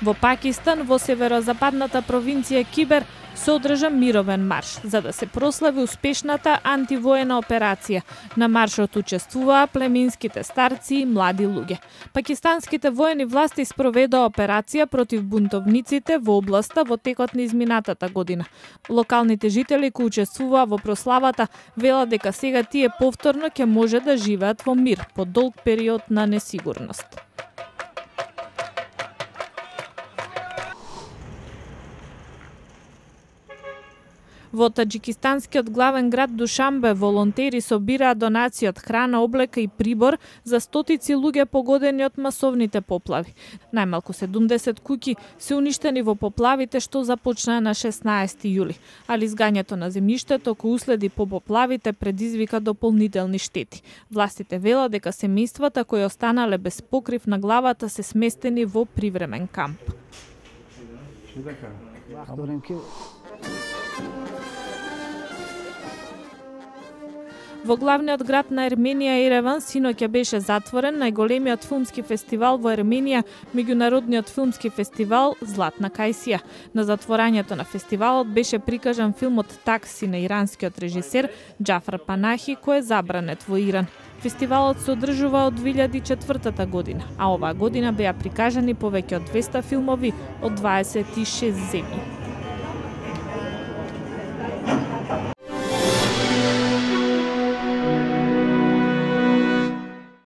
Во Пакистан, во северозападната провинција Кибер, се одржа мировен марш, за да се прослави успешната антивоена операција. На маршот учествуваа племинските старци и млади луѓе. Пакистанските воени власти спроведоа операција против бунтовниците во областа во текот на изминатата година. Локалните жители кои учествуваа во прославата велат дека сега тие повторно ќе може да живеат во мир по долг период на несигурност. Во таџикистанскиот главен град Душанбе волонтери собираа донации од храна, облека и прибор за стотици луѓе погодени од масовните поплави. Најмалку 70 куќи се уништени во поплавите што започнаа на 16 јули, али изгањето на земјиштето кој уследи по поплавите предизвика дополнителни штети. Властите велат дека семејствата кои останале без покрив на главата се сместени во привремен камп. Во главниот град на Ерменија Ереван синоќа беше затворен најголемиот филмски фестивал во Ерменија, меѓународниот филмски фестивал Златна кајсија. На затворањето на фестивалот беше прикажан филмот Такси на иранскиот режисер Џафар Панахи, кој е забранет во Иран. Фестивалот се одржува од 2004 година, а оваа година беа прикажани повеќе од 200 филмови од 26 земји.